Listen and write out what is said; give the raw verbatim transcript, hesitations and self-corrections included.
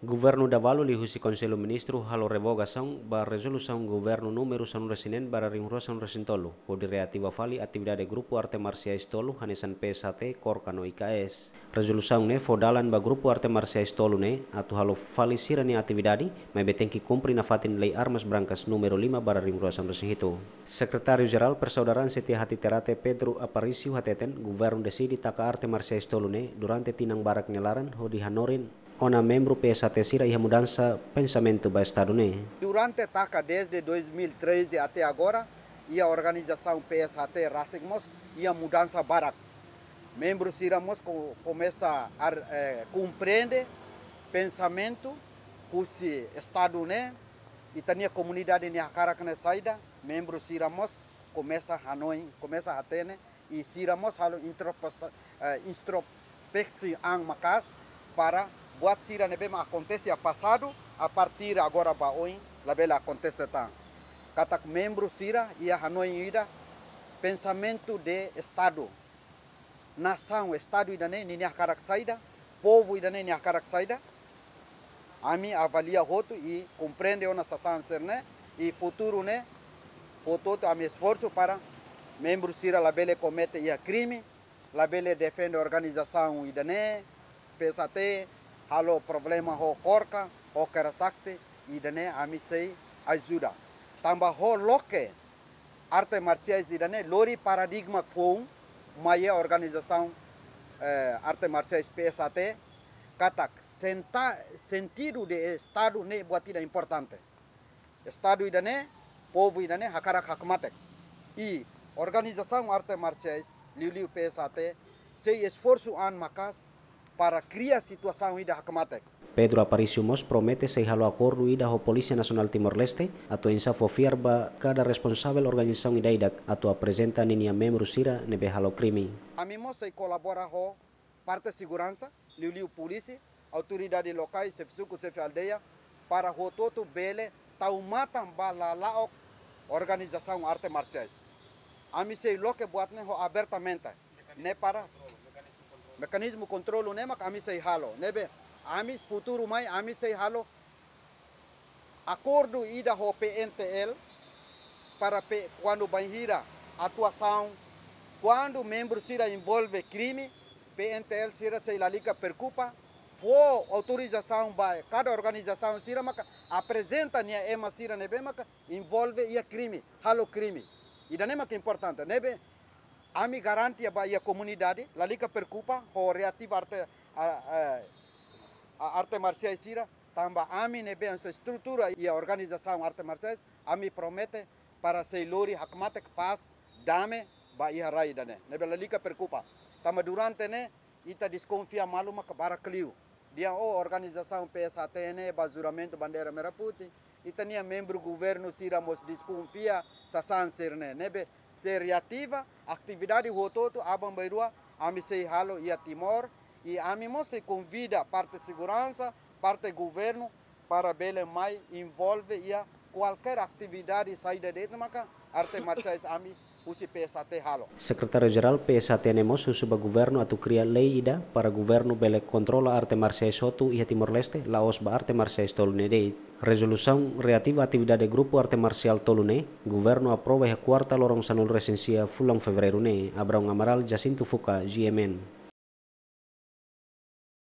Governu Davalu liuhusi Konsellu Ministru halo revogasaun ba rezolusaun governu númeru sanulu-resin-neen barra rihun rua sanulu-resin-tolu, hodi reativa fali atividade grupu arte marsiais tolu hanesan P S H T, KORKA no I K S. Rezolusaun ne'e fó dalan ba grupu arte marsiais tolu ne'e atu halo fali sira-nia atividade, maibé tenke kumpre nafatin Lei Armas Brancas númeru lima barra rihun rua sanulu-resin-hitu. Sekretáriu Jerál Persaudaraan Setiahati Terate, Pedro Aparício, hateten governu deside taka arte marsiais tolu ne'e durante tinan barak nia laran hodi hanorin ona membru P S H T sira iha mudansa pensamentu ba Estadu ne'e. Durante taka desde dois mil e treze até agora, iha organizasaun P S H T rasik mós iha mudansa barak. Membru sira mós ko-, komesa ar-, eh, komprende pensamentu husi Estadu ne'e, ita-nia komunidade nia hakarak ne'e saida, membru sira mós komesa hanoin, komesa hatene, i sira mós halo introspos-, eh, introspeksaun maka'as para buat sira ne'ebé mak akontese iha pasadu, a partir agora ba oin labele akontese tan. Katak membru sira iha hanoin ida, pensamentu de Estadu, nasaun, Estadu ida-ne'e ninia hakarak saida, povu ida-ne'e nia hakarak saida. Ami avalia hotu i komprende ona sasán sira-ne'e, i futuru ne'e hotu-hotu ami esforsu para membru sira labele komete iha krime, labele defende organizasaun ida-ne'e, P S H T, halo problema ho KORKA, ho Kera Sakti, ida-ne'e ami sei ajuda. Tanba ho loke arte marsiais ida-ne'e lori paradigma foun mai iha organizasaun, eh, arte marsiais P S H T, katak senta-, sentidu de Estadu ne'e buat ida importante. Estadu ida-ne'e, povu ida-ne'e hakarak hakmatek. I organizasaun arte marsiais, liuliu P S H T, sei esforsu an maka'as para kria situasaun ida hakmatek. Pedro Aparício mós promete sei halo akordu ida ho Polísia Nasionál Timor-Leste, atu oinsá fó fiar ba kada responsavel organizasaun ida-idak atu aprezenta ninia membru sira ne'ebé halo krime. Ami mós sei kolabora ho parte seguransa, liuliu polísia, autoridade lokais, xefe suku, xefe aldeia, para hotu-hotu bele tau matan ba lala'ok organizasaun arte marsiais. Ami sei loke buat ne'e ho abertamente, ne'e para mekanizmu kontrolu ne'e mak ami sei halo. Ne'ebé, ami futuru mai, ami sei halo akordu ida ho P N T L para pe-, kuandu bainhira atuasaun, kuandu membru sira envolve krime, P N T L sira sei lalika preokupa, fó autorizasaun ba kada organizasaun sira maka aprezenta nia ema sira ne'ebé maka envolve iha krime, halo krime. Ida-ne'e mak importante. Ne'ebé ami garante ba iha komunidade, lalika preokupa ho reativa arte, a, a, a arte marsiais sira, tanba ami ne'ebé hanesan estrutura iha organizasaun arte marsiais, ami promete para sei lori hakmatek, pás, dame ba iha rai ida-ne'e. Ne'ebé lalika preokupa. Tanba durante ne'e, ita deskonfia malu maka barak liu. Dehan, oh, organizasaun P S H T ne'e ba juramentu bandeira merah putih, ita-nia membru governu sira mós deskonfia sasán sira-ne'e. Ne'ebé sei reativa, atividade hotu-hotu aban-bainrua ami sei halo iha Timor, i ami mós sei konvida parte seguransa, parte governu, para bele mai envolve iha kualkér atividade saida de'it maka arte marsiais ami husi P S H T halo. Sekretáriu Jerál P S H T ne'e mós husu ba governu atu kria lei ida para governu bele kontrola arte marsiais hotu iha Timor-Leste, la'ós ba arte marsiais tolu ne'e de'it. Rezolusaun reativa atividade grupu arte marsiál tolu ne'e, governu aprova iha kuarta loron sanulu-resin-sia fulan Fevereiru ne'e. Abraão Amaral, Jacinto Fuca, G M N.